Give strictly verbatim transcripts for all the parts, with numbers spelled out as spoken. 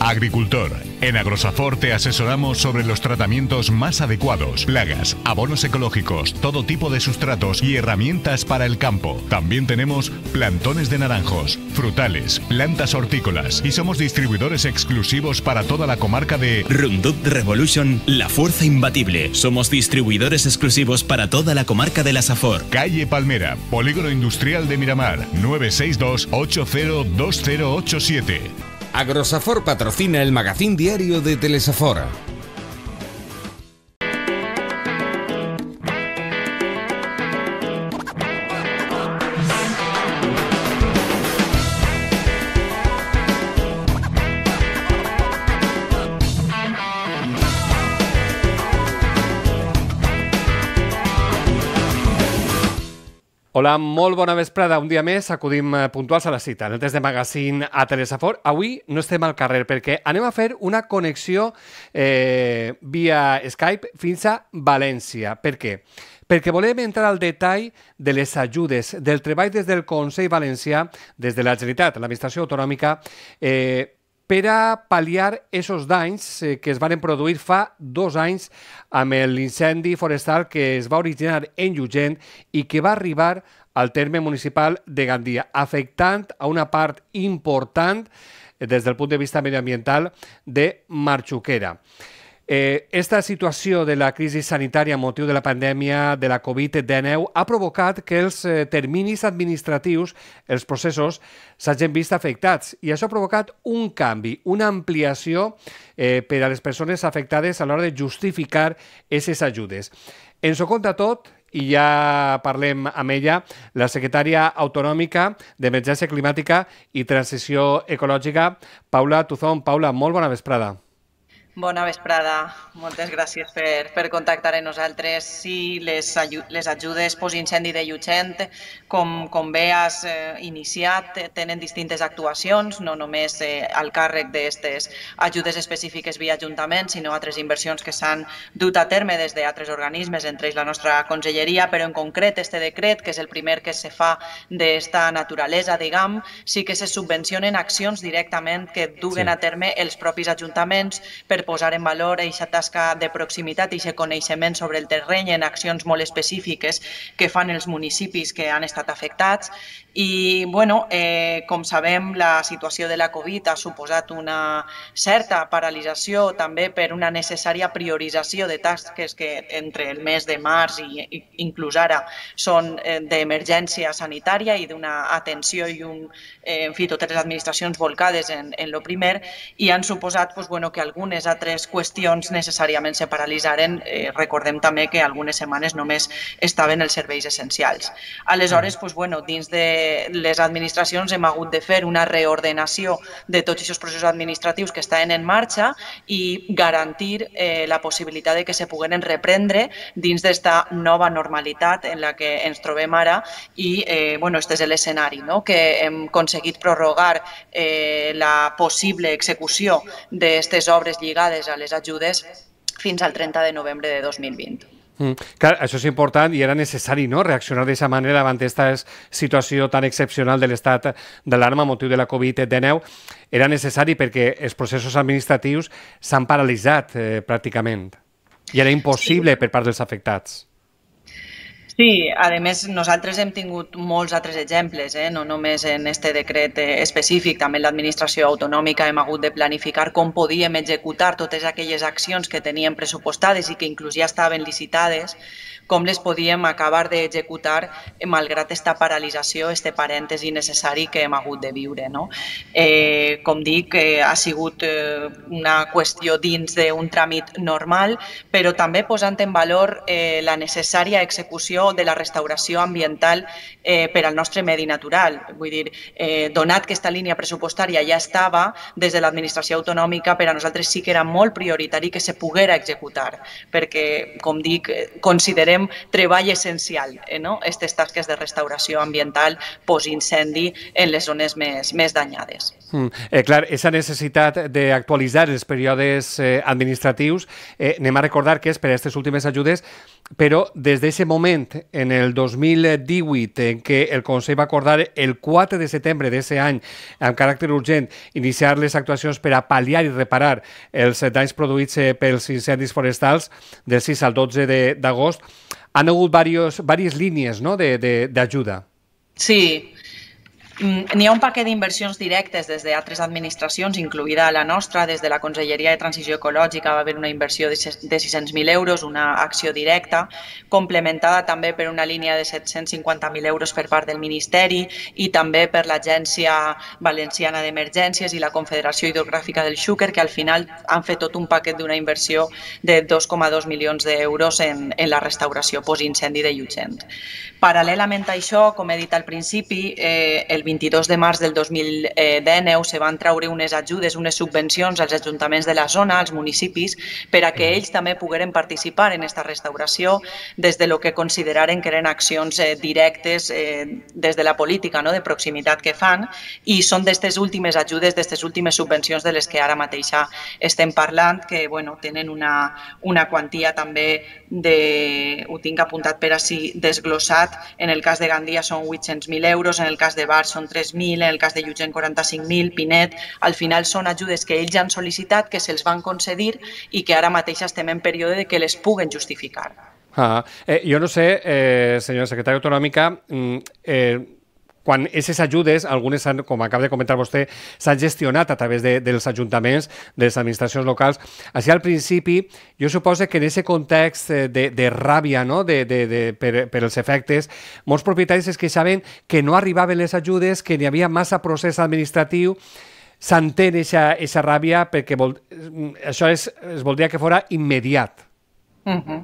Agricultor. En Agrosafor te asesoramos sobre los tratamientos más adecuados, plagas, abonos ecológicos, todo tipo de sustratos y herramientas para el campo. También tenemos plantones de naranjos, frutales, plantas hortícolas y somos distribuidores exclusivos para toda la comarca de Roundup Revolution, la fuerza imbatible. Somos distribuidores exclusivos para toda la comarca de la Safor. Calle Palmera, Polígono Industrial de Miramar, nueve seis dos, ocho cero dos cero ocho siete. Agrosafor patrocina el magazín diario de Telesafor. Hola, molt bona vesprada. Un dia més acudim puntuals a la cita. En el test de magazine a Telesafor. Avui no estem al carrer perquè anem a fer una connexió eh, via Skype fins a València. Per què? Perquè volem entrar al detall de les ajudes, del treball des del Consell Valencià, des de la Generalitat, l'administració autonòmica, eh, per a pal·liar aquests danys eh, que es van produir fa dos anys amb l'incendi forestal que es va originar en Llugent i que va arribar al terme municipal de Gandia, afectant a una part important eh, des del punt de vista medioambiental de Marxuquera. Eh, esta situació de la crisi sanitària a motiu de la pandèmia de la Covid dinou ha provocat que els eh, terminis administratius, els processos, s'hagin vist afectats i això ha provocat un canvi, una ampliació eh, per a les persones afectades a l'hora de justificar aquestes ajudes. Ens ho conta tot i ja parlem amb ella, la secretària autonòmica d'Emergència Climàtica i Transició Ecològica, Paula Tuzón. Paula, molt bona vesprada. Bona vesprada, moltes gràcies per, per contactar amb nosaltres. Sí, les, les ajudes postincendi de Llugent, com, com bé has eh, iniciat, tenen distintes actuacions, no només eh, al càrrec d'aquestes ajudes específiques via Ajuntament, sinó altres inversions que s'han dut a terme des d'altres organismes, entre ells la nostra conselleria, però en concret este decret, que és el primer que se fa d'esta naturalesa, diguem, sí que se subvencionen accions directament que duguen sí. a terme els propis ajuntaments per posar en valor aquesta tasca de proximitat i aquest coneixement sobre el terreny en accions molt específiques que fan els municipis que han estat afectats. I, bueno, eh, com sabem, la situació de la Covid ha suposat una certa paralització també per una necessària priorització de tasques que entre el mes de març i, i inclús ara són eh, d'emergència sanitària i d'una atenció i un, eh, en fi, totes les administracions volcades en, en lo primer i han suposat pues, bueno, que algunes altres qüestions necessàriament se paralitzaren. Eh, recordem també que algunes setmanes només estaven els serveis essencials. Aleshores, pues, bueno, dins de les administracions hem hagut de fer una reordenació de tots aquests processos administratius que estaven en marxa i garantir eh, la possibilitat de que se pogueren reprendre dins d'esta nova normalitat en la que ens trobem ara i eh, bueno, este és l'escenari, no? Que hem aconseguit prorrogar eh, la possible execució d'aquestes obres lligades a les ajudes fins al trenta de novembre de dos mil vint. Mm. Clar, això és important i era necessari, no?, reaccionar d'aquesta manera davant aquesta situació tan excepcional de l'estat d'alarma a motiu de la Covid dinou. Era necessari perquè els processos administratius s'han paralitzat eh, pràcticament i era impossible sí. per part dels afectats. Sí, a més, nosaltres hem tingut molts altres exemples, eh? no només en este decret específic, també en l'administració autonòmica hem hagut de planificar com podíem executar totes aquelles accions que teníem pressupostades i que inclús ja estaven licitades, com les podíem acabar d'executar malgrat esta paralització, este parèntesi necessari que hem hagut de viure. No? Eh, com dic, eh, ha sigut eh, una qüestió dins d'un tràmit normal, però també posant en valor eh, la necessària execució de la restauració ambiental eh, per al nostre medi natural. Vull dir, eh, donat que aquesta línia pressupostària ja estava des de l'administració autonòmica, per a nosaltres sí que era molt prioritari que se poguera executar, perquè, com dic, considerem treball essencial, eh, no? Aquestes tasques de restauració ambiental post-incendi en les zones més, més danyades. Mm. Eh, clar, aquesta necessitat d'actualitzar els períodes eh, administratius, eh, anem a recordar que és per a aquestes últimes ajudes, però des d'aquest moment fet en el dos mil divuit, en què el Consell va acordar el quatre de setembre d'aquest any, amb caràcter urgent, iniciar les actuacions per a pal·liar i reparar els danys produïts pels incendis forestals del sis al dotze d'agost, han hagut diverses línies, no?, d'ajuda. Sí. N'hi ha un paquet d'inversions directes des d'altres administracions, incloïda la nostra. Des de la Conselleria de Transició Ecològica va haver una inversió de sis-cents mil euros, una acció directa, complementada també per una línia de set-cents cinquanta mil euros per part del Ministeri i també per l'Agència Valenciana d'Emergències i la Confederació Hidrogràfica del Xúquer, que al final han fet tot un paquet d'una inversió de dos coma dos milions d'euros en, en la restauració postincendi de Llutxent. Paral·lelament a això, com he dit al principi, eh, el vint-i-dos de març del dos mil dinou se van treure unes ajudes, unes subvencions als ajuntaments de la zona, als municipis, per a que ells també pogueren participar en aquesta restauració des de lo que consideraren que eren accions eh, directes eh, des de la política, no?, de proximitat que fan, i són d'aquestes últimes ajudes, d'aquestes últimes subvencions de les que ara mateixa estem parlant, que bueno, tenen una, una quantia també de, ho tinc apuntat per així desglossat. En el cas de Gandia són vuit-cents mil euros, en el cas de Bar són tres mil, en el cas de Llutxent quaranta-cinc mil, Pinet. Al final són ajudes que ells han sol·licitat, que se'ls van concedir i que ara mateix estem en període de que les puguen justificar. Ah, eh, jo no sé, eh, senyora secretària autonòmica, eh, quan aquestes ajudes, algunes, han, com acaba de comentar vostè, s'han gestionat a través de, dels ajuntaments, de les administracions locals. Així, al principi, jo suposo que en aquest context de, de ràbia, no?, de, de, de, per, per els efectes, molts propietaris es queixaven que no arribaven les ajudes, que n'hi havia massa procés administratiu. S'entén aquesta ràbia perquè vol, això és, es voldria que fos immediat. Uh-huh.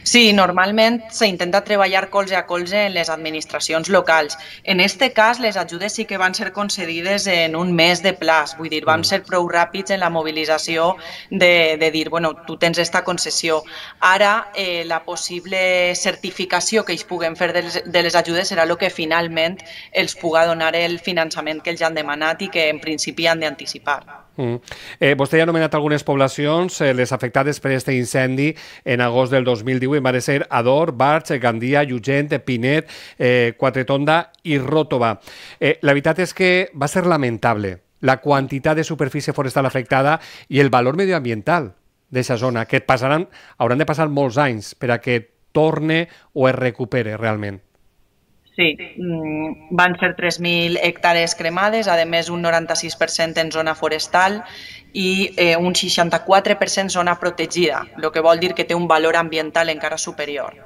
Sí, normalment s'intenta treballar colze a colze en les administracions locals. En aquest cas, les ajudes sí que van ser concedides en un mes de plaç, vull dir, vam ser prou ràpids en la mobilització de, de dir, bueno, tu tens esta concessió. Ara, eh, la possible certificació que ells puguen fer de les, de les ajudes serà el que finalment els puga donar el finançament que ells han demanat i que en principi han d'anticipar. Mm. Eh, vostè ja ha anomenat algunes poblacions, eh, les afectades per aquest incendi en agost del dos mil divuit, van ser Ador, Barx, Gandia, Llutxent, Pinet, eh, Quatretonda i Ròtova. Eh, la veritat és que va ser lamentable la quantitat de superfície forestal afectada i el valor medioambiental d'aquesta zona, que passaran, hauran de passar molts anys per a que torne o es recupere realment. Sí, van ser tres mil hectàrees cremades, a més un noranta-sis per cent en zona forestal i eh, un seixanta-quatre per cent zona protegida, el que vol dir que té un valor ambiental encara superior.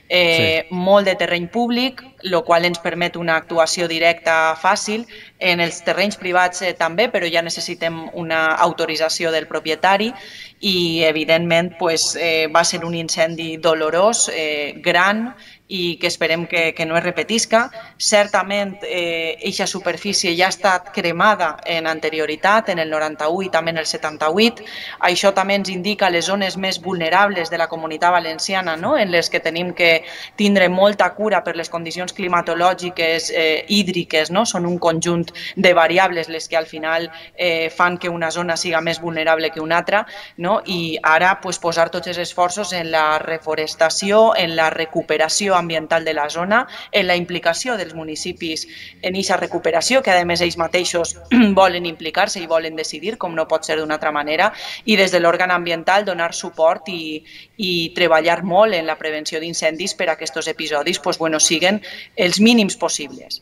Eh, sí. Molt de terreny públic, el qual ens permet una actuació directa fàcil. En els terrenys privats eh, també, però ja necessitem una autorització del propietari i, evidentment, pues, eh, va ser un incendi dolorós, eh, gran, i que esperem que, que no es repetisca. Certament, eixa eh, superfície ja ha estat cremada en anterioritat, en el noranta-u i també en el setanta-vuit. Això també ens indica les zones més vulnerables de la Comunitat Valenciana, no?, en les que tenim que tindre molta cura per les condicions climatològiques, eh, hídriques, no? Són un conjunt de variables les que al final eh, fan que una zona siga més vulnerable que una altra, no? I ara pues, posar tots els esforços en la reforestació, en la recuperació ambiental de la zona, en la implicació dels municipis en aquesta recuperació, que a més ells mateixos volen implicar-se i volen decidir, com no pot ser d'una altra manera, i des de l'òrgan ambiental donar suport i, i treballar molt en la prevenció d'incendis per a que aquests episodis pues, bueno, siguen els mínims possibles.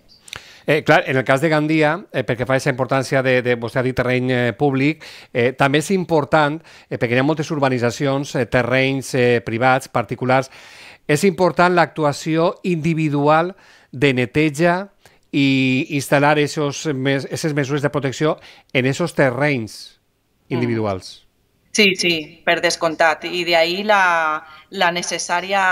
Eh, clar, en el cas de Gandia, eh, perquè fa aquesta importància de, de vostè ha dit terreny eh, públic, eh, també és important, eh, perquè hi ha moltes urbanitzacions, eh, terrenys eh, privats, particulars, és important l'actuació individual de neteja i instal·lar aquestes mesures de protecció en aquests terrenys individuals. Sí, sí, per descomptat. I d'ahí la, la necessària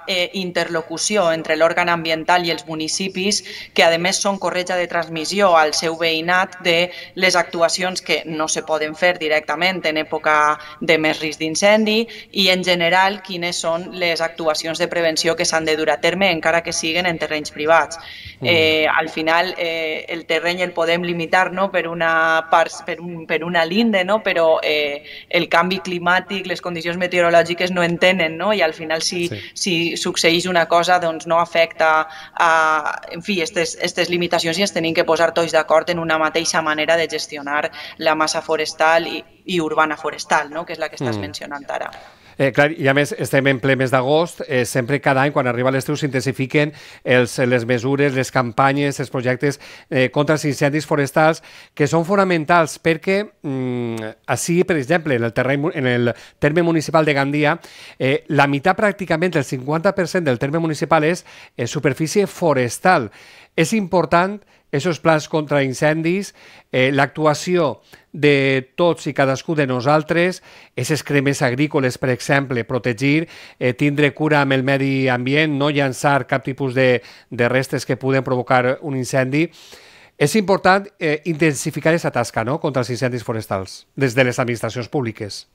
eh, interlocució entre l'òrgan ambiental i els municipis, que a més són corretja de transmissió al seu veïnat de les actuacions que no se poden fer directament en època de més risc d'incendi i en general quines són les actuacions de prevenció que s'han de dur a terme encara que siguen en terrenys privats. Eh, al final eh, el terreny el podem limitar, no?, per una, part, per un, per una linde, no?, però eh, el canvi climàtic, les condicions meteorològiques no en tenen, no? I al final si, Sí. si succeeix una cosa doncs no afecta a, en fi, aquestes limitacions i ens tenim que posar tots d'acord en una mateixa manera de gestionar la massa forestal i, i urbana forestal, no? Que és la que estàs Mm. mencionant ara. Eh, clar, i a més estem en ple mes d'agost, eh, sempre cada any quan arriba l'estiu s'intensifiquen els, les mesures, les campanyes, els projectes eh, contra els incendis forestals que són fonamentals perquè mm, així, per exemple, en el, terreny, en el terme municipal de Gandia eh, la meitat pràcticament, el cinquanta per cent del terme municipal és eh, superfície forestal. És important aquests plans contra incendis, eh, l'actuació de tots i cadascú de nosaltres, aquestes cremes agrícoles, per exemple, protegir, eh, tindre cura amb el medi ambient, no llançar cap tipus de, de restes que puguen provocar un incendi. És important eh, intensificar aquesta tasca, no?, contra els incendis forestals, des de les administracions públiques.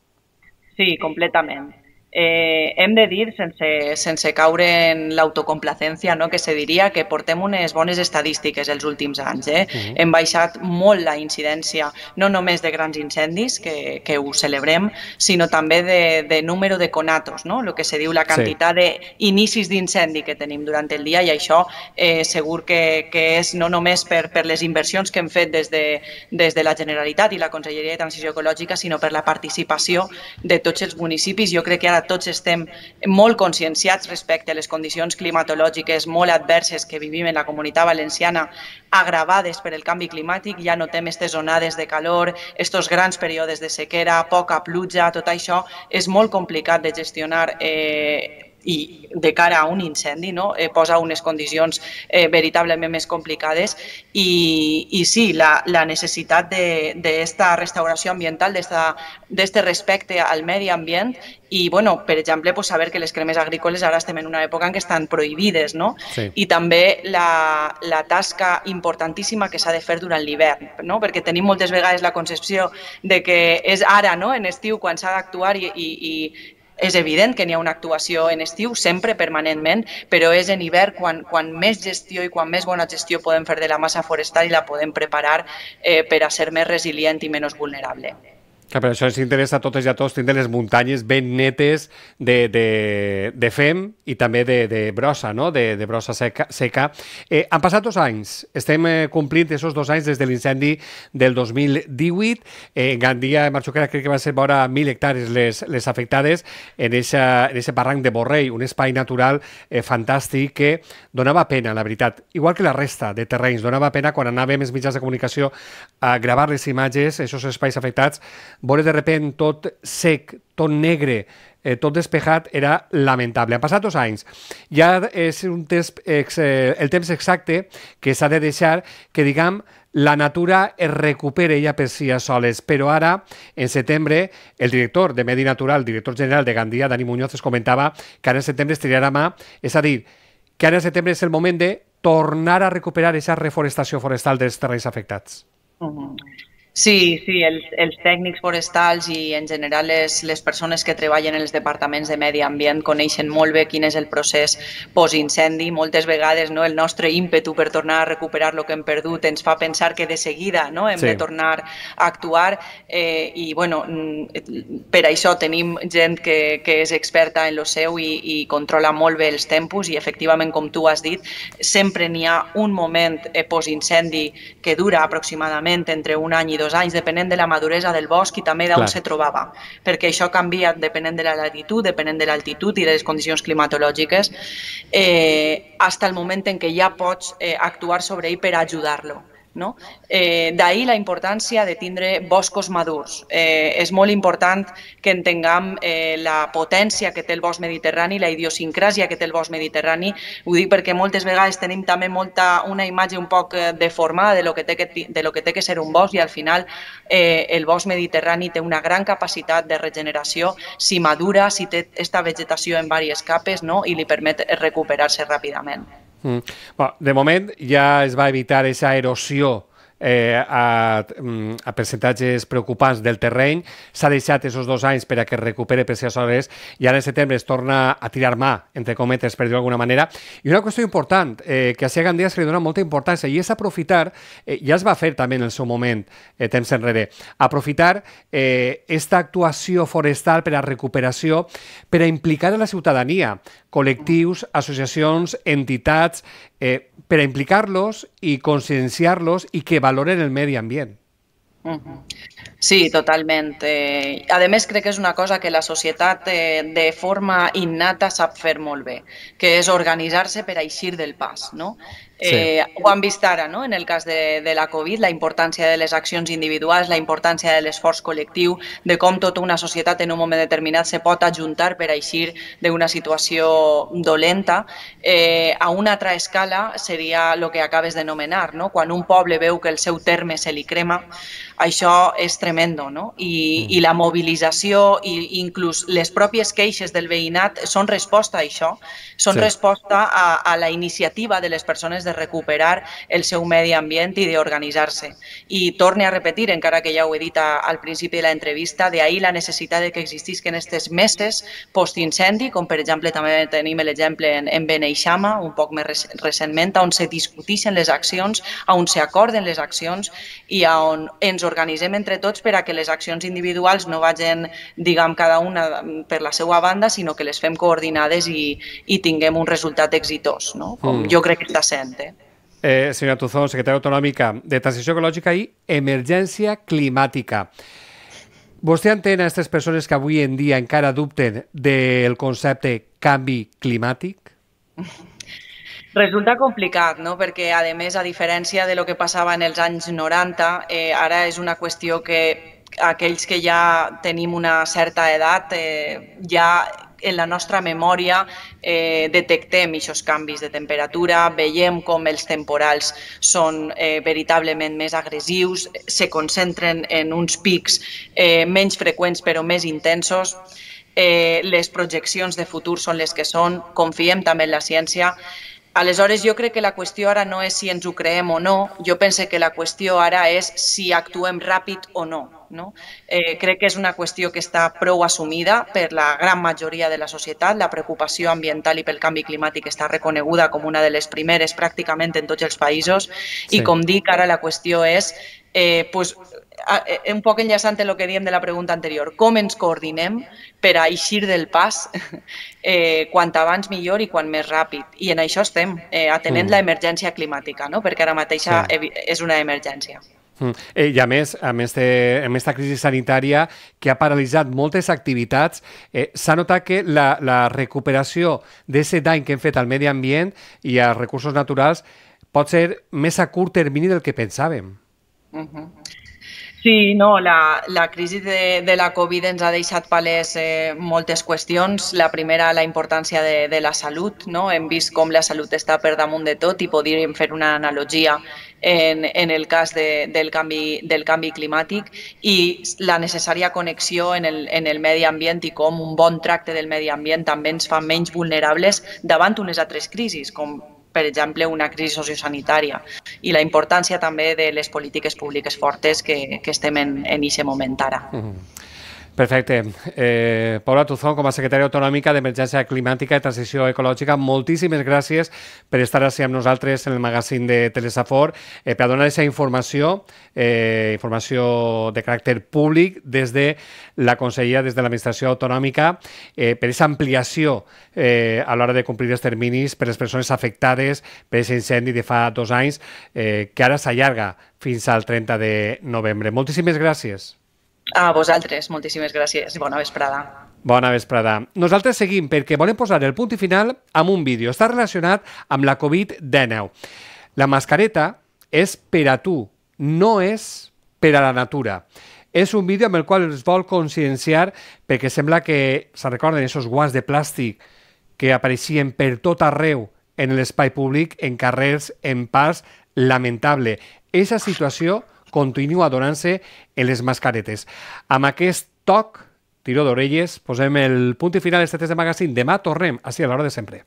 Sí, completament. Eh, hem de dir, sense, sense caure en l'autocomplacència, no? Que se diria que portem unes bones estadístiques els últims anys. Eh? Uh-huh. Hem baixat molt la incidència, no només de grans incendis, que, que ho celebrem, sinó també de, de número de conatos, no? El que se diu la quantitat sí. d'inicis d'incendi que tenim durant el dia, i això eh, segur que, que és no només per, per les inversions que hem fet des de, des de la Generalitat i la Conselleria de Transició Ecològica, sinó per la participació de tots els municipis. Jo crec que ara tots estem molt conscienciats respecte a les condicions climatològiques molt adverses que vivim en la Comunitat Valenciana, agravades per el canvi climàtic. Ja notem aquestes onades de calor, aquests grans períodes de sequera, poca pluja, tot això és molt complicat de gestionar eh, i de cara a un incendi, no? eh, posa unes condicions eh, veritablement més complicades i, i sí, la, la necessitat d'esta restauració ambiental, d'aquest respecte al medi ambient i, bueno, per exemple, pues, saber que les cremes agrícoles ara estem en una època en què estan prohibides, no? Sí. I també la, la tasca importantíssima que s'ha de fer durant l'hivern, no? Perquè tenim moltes vegades la concepció de que és ara, no?, en estiu, quan s'ha d'actuar i, i, i és evident que n'hi ha una actuació en estiu, sempre, permanentment, però és en hivern quan, quan més gestió i quan més bona gestió podem fer de la massa forestal i la podem preparar eh, per a ser més resilient i menys vulnerable. Que per això ens interessa a totes i a tots tindre les muntanyes ben netes de, de, de fem i també de, de brossa, no? de, de brossa seca. seca. Eh, han passat dos anys, estem eh, complint aquests dos anys des de l'incendi del dos mil divuit. Eh, en Gandia, en Marxuquera, crec que van ser vora mil hectàrees les, les afectades en aquest barranc de Borrell, un espai natural eh, fantàstic que donava pena, la veritat. Igual que la resta de terrenys, donava pena quan anàvem els mitjans de comunicació a gravar les imatges, aquests espais afectats, veure de repent tot sec, tot negre, eh, tot despejat, era lamentable. Han passat dos anys. Ja és un temps, eh, el temps exacte que s'ha de deixar que, diguem, la natura es recupera ella per si soles, però ara, en setembre, el director de Medi Natural, director general de Gandia, Dani Muñoz, es comentava que ara en setembre es triarà mà, és a dir, que ara en setembre és el moment de tornar a recuperar aquesta reforestació forestal dels terrenys afectats. Uh-huh. Sí, sí, els, els tècnics forestals i en general les, les persones que treballen en els departaments de medi ambient coneixen molt bé quin és el procés post-incendi. Moltes vegades, no, el nostre ímpetu per tornar a recuperar el que hem perdut ens fa pensar que de seguida, no, hem sí. de tornar a actuar eh, i bueno, per això tenim gent que, que és experta en lo seu i, i controla molt bé els tempos i efectivament, com tu has dit, sempre n'hi ha un moment eh, post-incendi que dura aproximadament entre un any i dos anys, depenent de la maduresa del bosc i també d'on se trobava, perquè això canvia depenent de la latitud, depenent de l'altitud i de les condicions climatològiques, eh, fins al moment en què ja pots eh, actuar sobre ell per ajudar-lo. No? Eh, D'ahir la importància de tindre boscos madurs. Eh, és molt important que entenguem eh, la potència que té el bosc mediterrani, la idiosincràsia que té el bosc mediterrani. Ho dic perquè moltes vegades tenim també molta, una imatge un poc deformada de lo que té que, de lo que, té que ser un bosc i al final eh, el bosc mediterrani té una gran capacitat de regeneració si madura, si té esta vegetació en diverses capes, no? I li permet recuperar-se ràpidament. Mm. Bueno, de moment ja es va evitar aquesta erosió eh, a, a percentatges preocupants del terreny, s'ha deixat aquests dos anys per a que es recupere per si aleshores i ara en setembre es torna a tirar mà, entre cometes, per dir-ho d'alguna manera. I una qüestió important, eh, que a Sia Gandia se li dona molta importància i és aprofitar, eh, ja es va fer també en el seu moment, eh, temps enrere, aprofitar eh, esta actuació forestal per a recuperació, per a implicar a la ciutadania, col·lectius, associacions, entitats, eh, per a implicar-los i conscienciar-los i que valoren el medi ambient. Sí, totalment. Eh, a més, crec que és una cosa que la societat eh, de forma innata sap fer molt bé, que és organitzar-se per a eixir del pas, no? Eh, sí. Ho hem vist ara, no? En el cas de, de la Covid, la importància de les accions individuals, la importància de l'esforç col·lectiu, de com tota una societat en un moment determinat se pot ajuntar per a eixir d'una situació dolenta. Eh, a una altra escala seria el que acabes d'anomenar, no? Quan un poble veu que el seu terme se li crema, això és tremendo, no? I, i la mobilització i inclús les pròpies queixes del veïnat són resposta a això, són sí. resposta a, a la iniciativa de les persones de recuperar el seu medi ambient i d'organitzar-se. I torne a repetir, encara que ja ho he dit a, al principi de l'entrevista, d'ahí la necessitat de que existisquen aquestes meses post-incendi, com per exemple també tenim l'exemple en, en Beneixama, un poc més recentment, on se discuteixen les accions, on se acorden les accions i on ens organitzem entre tots per a que les accions individuals no vagin, diguem, cada una per la seva banda, sinó que les fem coordinades i, i tinguem un resultat exitós, no? Com mm. jo crec que està sent. Eh? Eh, senyora Tuzón, secretària autonòmica de Transició Ecològica i Emergència Climàtica. Vostè entén a aquestes persones que avui en dia encara dubten del concepte canvi climàtic? Resulta complicat, no? Perquè, a més, a diferència de lo que passava en els anys noranta, eh, ara és una qüestió que aquells que ja tenim una certa edat, eh, ja en la nostra memòria eh, detectem aquests canvis de temperatura, veiem com els temporals són eh, veritablement més agressius, se concentren en uns pics eh, menys freqüents però més intensos. Eh, les projeccions de futur són les que són, confiem també en la ciència. Aleshores, jo crec que la qüestió ara no és si ens ho creem o no, jo pense que la qüestió ara és si actuem ràpid o no. no? Eh, crec que és una qüestió que està prou assumida per la gran majoria de la societat. La preocupació ambiental i pel canvi climàtic està reconeguda com una de les primeres pràcticament en tots els països i, sí. com dic, ara la qüestió és eh, pues, un poc enllaçant en el que diem de la pregunta anterior, com ens coordinem per a eixir del pas eh, quant abans millor i quan més ràpid. I en això estem, eh, atenent mm. l'emergència climàtica, no? Perquè ara mateixa sí. és una emergència. Mm. Eh, I a més, a més de, amb aquesta crisi sanitària que ha paralitzat moltes activitats, eh, s'ha notat que la, la recuperació d'aquest dany que hem fet al medi ambient i als recursos naturals pot ser més a curt termini del que pensàvem. Uh-huh. Sí, no, la, la crisi de, de la Covid ens ha deixat palès eh, moltes qüestions. La primera, la importància de, de la salut, no? Hem vist com la salut està per damunt de tot i podríem fer una analogia en, en el cas de, del, canvi, del canvi climàtic i la necessària connexió en el, en el medi ambient i com un bon tracte del medi ambient també ens fa menys vulnerables davant unes altres crisis, com per exemple, una crisi sociosanitària i la importància també de les polítiques públiques fortes que, que estem en aquest moment ara. Mm-hmm. Perfecte. Eh, Paula Tuzón, com a secretària autonòmica d'Emergència Climàtica i Transició Ecològica, moltíssimes gràcies per estar així amb nosaltres en el magazín de Telesafor, eh, per donar aquesta informació, eh, informació de caràcter públic des de la Conselleria, des de l'Administració Autonòmica, eh, per aquesta ampliació eh, a l'hora de complir els terminis per les persones afectades per aquest incendi de fa dos anys, eh, que ara s'allarga fins al trenta de novembre. Moltíssimes gràcies. A vosaltres, moltíssimes gràcies. Bona vesprada. Bona vesprada. Nosaltres seguim perquè volem posar el punt i final amb un vídeo. Està relacionat amb la Covid dinou. La mascareta és per a tu, no és per a la natura. És un vídeo amb el qual es vol conscienciar perquè sembla que se recorden aquests guants de plàstic que apareixien per tot arreu en l'espai públic, en carrers, en parcs. Lamentable. Aquesta situació continua donant-se en les mascaretes. Amb aquest toc, tiró d'orelles, posem el punt i final d'aquest test de magazín. Demà tornem, així a l'hora de sempre.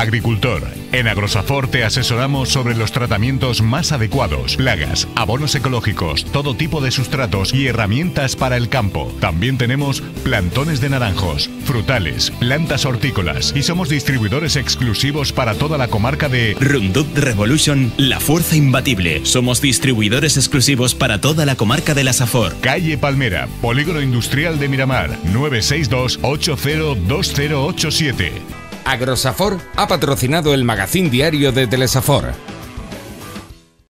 agricultor. En Agrosafor te asesoramos sobre los tratamientos más adecuados, plagas, abonos ecológicos, todo tipo de sustratos y herramientas para el campo. También tenemos plantones de naranjos, frutales, plantas hortícolas y somos distribuidores exclusivos para toda la comarca de Roundup Revolution, la fuerza imbatible. Somos distribuidores exclusivos para toda la comarca de la Safor. Calle Palmera, Polígono Industrial de Miramar, nueve seis dos, ocho cero dos cero ocho siete. Agrosafor ha patrocinado el magazín diario de Telesafor.